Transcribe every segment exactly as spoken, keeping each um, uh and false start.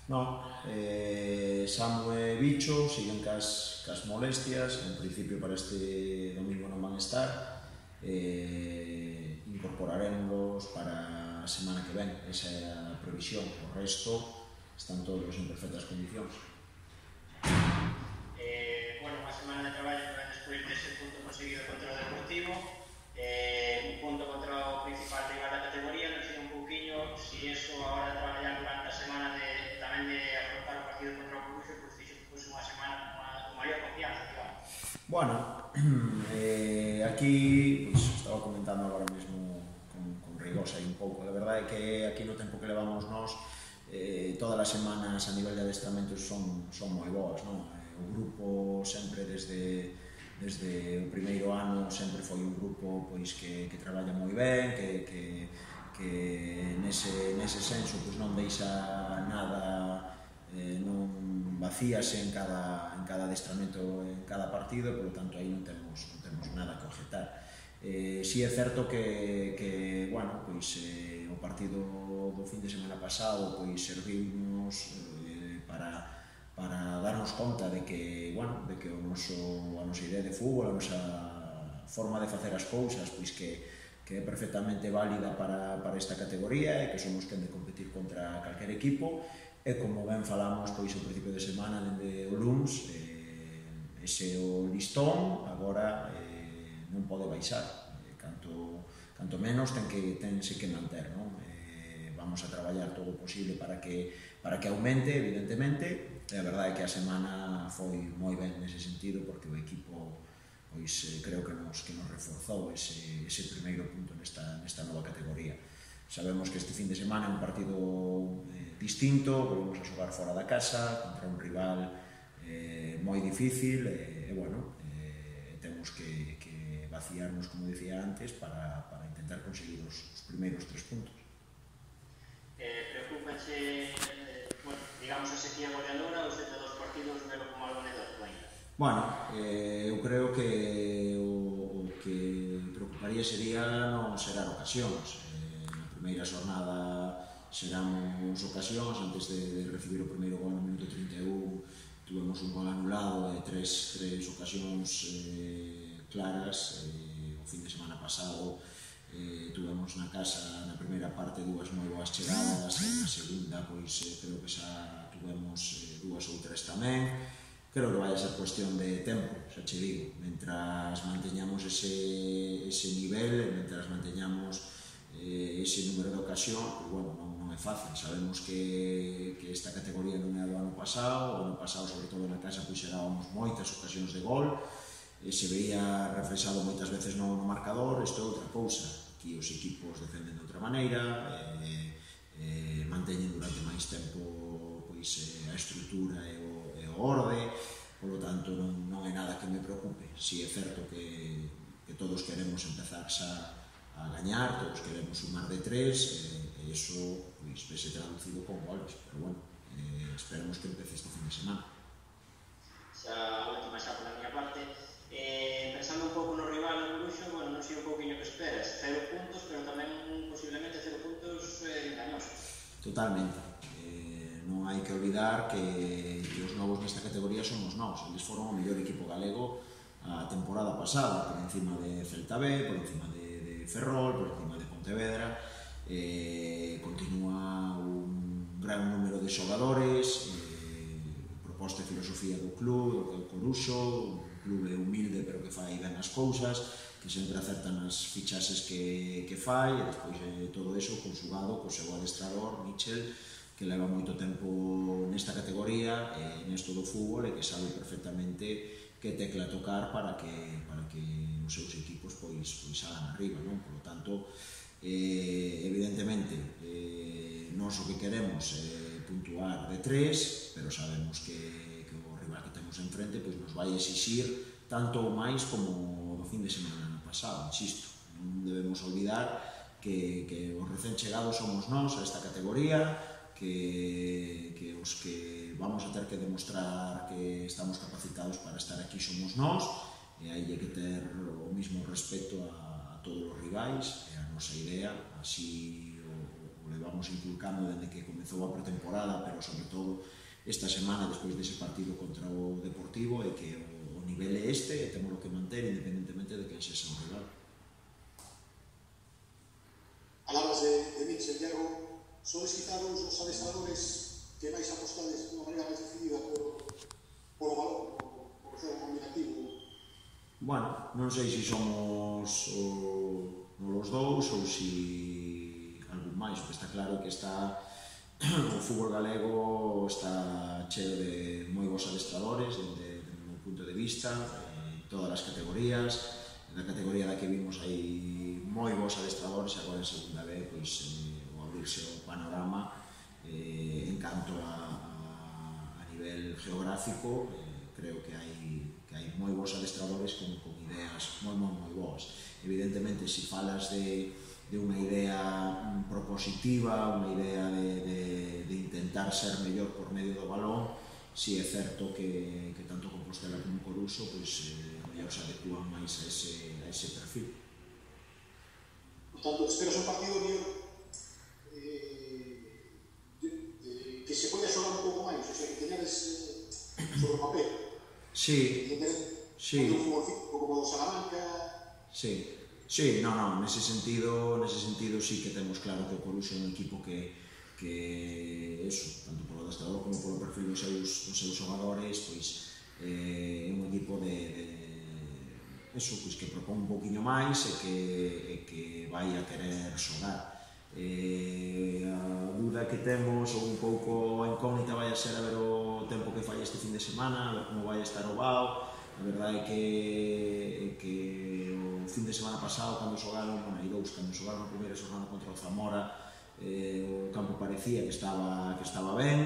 Non, eh, Samu e Bicho siguen cas, cas molestias, en principio para este domingo non van estar, eh, incorporaremos para a semana que ven, esa é a previsión, o resto están todos en perfectas condicións. Eh, bueno, unha semana de traballo para despois dese punto conseguido contra o Deportivo, eh, un punto contra o principal rival da categoría, non sei un pouquiño si eso agora de traballar durante a semana de, tamén de afrontar o partido contra o Coruxo, pois fixo que fose unha semana con maior confianza, digamos. Bueno, eh, aquí pues, estaba comentando agora mesmo con, con Rigosa un pouco, a verdade é que aquí no tempo que levamos nós eh, todas as semanas a nivel de adestramentos son, son moi boas, non? O grupo sempre desde, desde o primeiro ano sempre foi un grupo pois, que, que traballa moi ben, que, que, que nese, nese senso pois, non deixa nada, eh, non vacíase en cada, en cada adestramento, en cada partido, e, polo tanto, aí non temos, non temos nada que objetar. Eh, si é certo que, que bueno, pois, eh, o partido do fin de semana pasado pois, servimos eh, para para darnos conta de que, bueno, de que o noso, a nosa idea de fútbol, a nosa forma de facer as cousas, pois que, que é perfectamente válida para, para esta categoría e que somos quen de competir contra calquer equipo, e como ben falamos pois o principio de semana dende o luns, eh, ese o listón agora eh, non pode baixar, eh, canto, canto menos ten que, tense que manter, non? Eh, vamos a traballar todo o posible para que, para que aumente, evidentemente. E a verdade é que a semana foi moi ben nese sentido, porque o equipo pois, eh, creo que nos, que nos reforzou ese, ese primeiro punto nesta, nesta nova categoría. Sabemos que este fin de semana é un partido eh, distinto, volvemos a xogar fora da casa, contra un rival eh, moi difícil, e, e bueno, eh, temos que, que vaciarnos, como dicía antes, para, para intentar conseguir os, os primeiros tres puntos. Eh, preocúpense, eh, bueno, digamos, a sequía goleadora, os setenta e dous partidos, velo como algo anécdota ainda? Bueno, eh, eu creo que o, o que preocuparía sería non xerar ocasións. Eh, na primeira xornada xeramos ocasións, antes de, de recibir o primeiro gol no minuto trinta e un, tuvemos un gol anulado e tres, tres ocasións eh, claras. Eh, o fin de semana pasado Eh, tuvemos na casa na primeira parte dúas moi boas chegadas, e na segunda pois eh, creo que xa tuvemos eh, dúas ou tres tamén. Creo que vai a ser cuestión de tempo, xa che digo, mentras manteñamos ese, ese nivel, mentras manteñamos eh, ese número de ocasión, pois bueno, non, non é fácil. Sabemos que, que esta categoría non é do ano pasado, o ano pasado sobre todo na casa pois xerábamos moitas ocasións de gol, e se veía reflexado moitas veces no, no marcador. Isto é outra cousa, aquí os equipos defenden de outra maneira, eh, eh, manteñen durante máis tempo pois, eh, a estrutura e o, e o orde, polo tanto non, non é nada que me preocupe. Si é certo que, que todos queremos empezar xa a gañar, todos queremos sumar de tres, e, e iso pois, vese traducido con goles, pero bueno, eh, esperemos que empece este fin de semana. Xa a última xa pola miña parte. Eh, pensando un pouco no rival no Coruxo, bueno, non sei un pouquinho que esperas, cero puntos, pero tamén posiblemente cero puntos eh, engañosos. Totalmente. Eh, non hai que olvidar que, que os novos nesta categoría somos nós. Eles foron o mellor equipo galego a temporada pasada, por encima de Celta B, por encima de, de Ferrol, por encima de Pontevedra. Eh, continúa un gran número de xogadores, eh, proposta e filosofía do club, do Coruxo, un clube humilde pero que fai ben as cousas, que sempre acertan as fichaxes que, que fai, e despois eh, todo eso consugado co seu adestrador, Michel, que leva moito tempo nesta categoría, eh, nesto do fútbol, e que sabe perfectamente que tecla tocar para que, para que os seus equipos pois, pois hagan arriba, non? Por lo tanto, eh, evidentemente, eh, nós o que queremos é eh, puntuar de tres, pero sabemos que que temos enfrente pois nos vai exixir tanto ou máis como do fin de semana no pasado, insisto. Non debemos olvidar que, que os recén chegados somos nós a esta categoría, que, que os que vamos a ter que demostrar que estamos capacitados para estar aquí somos nós, e hai que ter o mismo respeto a, a todos os rivais, e a nosa idea así o, o levamos inculcando desde que comezou a pretemporada, pero sobre todo esta semana, despois dese partido contra o Deportivo, é que o, o nivel é este e temos que manter independentemente de quen sexa o rival. Palabras de, de Mitchell, Diego, sodes quizá os os adestradores que máis apostades de unha maneira máis decidida por, por o valor, por, por o xogo combinativo? Bueno, non sei se somos o, os dous ou se algún máis, porque está claro que está o fútbol galego está cheo de moi bons adestradores desde o meu punto de vista, en todas as categorías. Na categoría da que vimos hai moi bons adestradores e agora en segunda vez pois, eh, o abrirse o panorama eh, en canto a, a, a nivel geográfico, eh, creo que hai, que hai moi bons adestradores con, con ideas moi, moi, moi boas. Evidentemente, se falas de, de unha idea propositiva, unha idea de, de, de intentar ser mellor por medio do balón, si é certo que, que tanto Compostela como Coruso pois, eh, mellor se adecúan máis a ese, a ese perfil. Por tanto, esperas un partido mellor eh, de, de, que se poida xogar un pouco máis, o sea, que teñades eh, sobre o papel. Sí, sí. Un fútbol como o Salamanca. Sí, sí, no, no, nese sentido, nese sentido sí que temos claro que o Coruso é un equipo que que eso, tanto polo adestrador como polo perfil dos seus, dos seus xogadores, pois é eh, un equipo de, de eso, pois que propón un poquinho máis e que, e que vai a querer xogar. Eh, a dúda que temos, ou un pouco a incógnita, vai a ser a ver o tempo que fai este fin de semana, a ver como vai estar o Bao. A verdade é que, é que o fin de semana pasado, cando xogaron, bueno, hai dous, cando xogaron a primeira xornada contra o Zamora, eh, o campo parecía que estaba, que estaba ben,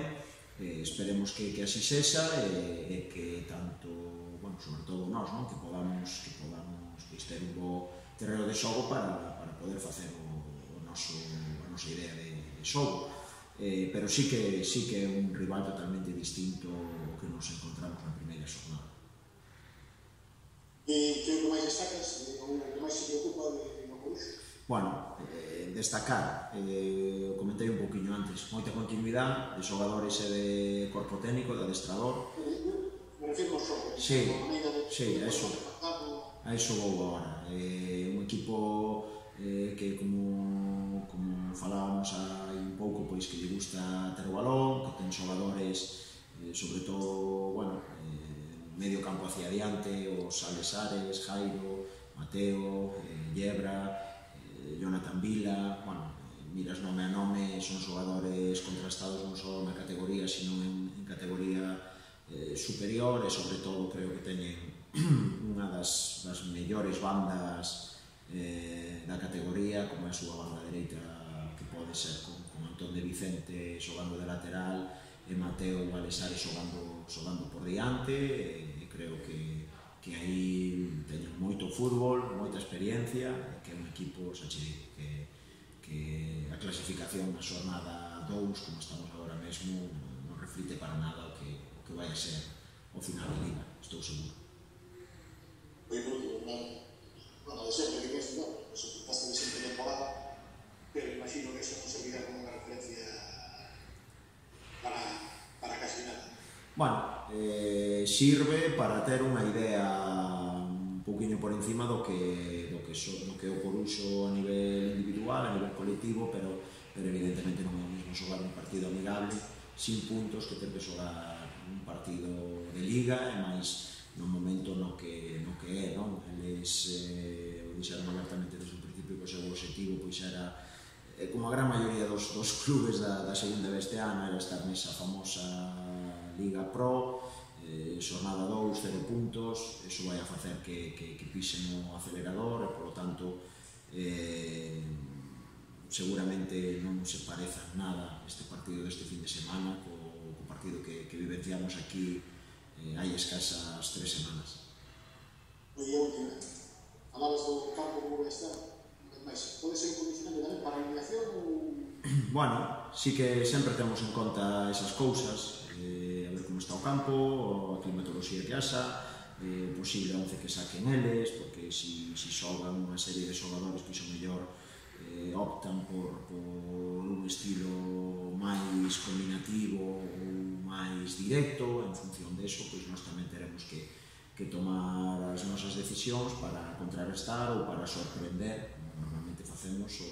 eh, esperemos que, que así sexa e, e que tanto, bueno, sobre todo nós, non? que podamos, que podamos pois, ter un bo terreno de xogo para, para poder facer o, o noso, a nosa idea de, de xogo. Eh, pero sí que, sí que é un rival totalmente distinto ao que nos encontramos na primeira xornada. E que é o que máis destacas, o que máis se preocupa de no Coruxo? Bueno, eh, destacar, eh, comentei un pouquinho antes, moita continuidade de xogadores e de corpo técnico, de adestrador. Me refiro ao xogo. Sí, sí, a eso, a eso vou agora. Eh, un equipo eh, que, como, como falábamos hai un pouco, pois que lle gusta ter o balón, que ten xogadores, eh, sobre todo, bueno, eh, medio campo hacia adiante, os Alesares, Jairo, Mateo, eh, Yebra, Jonathan Vila, bueno, miras nome a nome, son xogadores contrastados non só na categoría, sino en, en categoría eh, superior e, sobre todo, creo que teñen unha das, das mellores bandas eh, da categoría, como é a súa banda dereita, que pode ser con, con Antón de Vicente xogando de lateral e Mateo Alesares xogando, xogando por diante, e, e creo que que aí teñen moito fútbol, moita experiencia, que é un equipo, xa che digo, que, que a clasificación na xornada dous, como estamos agora mesmo, non reflite para nada o que, o que vai a ser o final da Liga, estou seguro. Oye, por último, bueno, de sempre que ves, no, eso quizás de sempre temporada, pero imagino que eso non servirá como unha referencia para, para casi nada. Bueno, eh, sirve para ter unha idea un poquinho por encima do que, do que, so, do que o Coruxo a nivel individual, a nivel colectivo, pero, pero evidentemente non é o mesmo xogar un partido amigable sin puntos que ter que xogar un partido de Liga, e máis no momento no que, no que é, non? Eles eh, o dixeron abertamente desde o principio que o seu objetivo pois era, eh, como a gran maioría dos, dos clubes da, da segunda deste ano, era estar nesa famosa Liga Pro, eh, xornada dous, cero puntos, eso vai a facer que, que, que pisen o acelerador e, polo tanto, eh, seguramente non se pareza nada este partido deste fin de semana co, co partido que, que vivenciamos aquí eh, hai escasas tres semanas. Oye, última, falabas do campo como vai estar, mas pode ser un condicionante tamén para a eliminación ou...? Bueno, sí que sempre temos en conta esas cousas, eh, a ver como está o campo, a climatoloxía que haxa, eh, o posible once que saquen eles, porque si, si xogan unha serie de xogadores que iso mellor eh, optan por, por un estilo máis combinativo ou máis directo. En función deso, pois nós tamén teremos que, que tomar as nosas decisións para contrarrestar ou para sorprender, como normalmente facemos, o,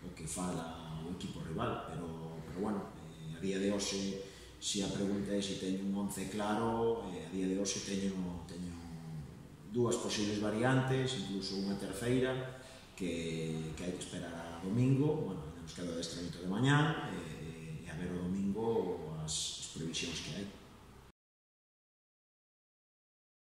o que fala o equipo rival. Pero, pero bueno, eh, a día de hoxe, se a pregunta é se teño un once claro, eh, a día de hoxe teño, teño dúas posibles variantes, incluso unha terceira, que, que hai que esperar a domingo. Bueno, nos queda o adestramento de mañá, e, e a ver o domingo as, as previsións que hai.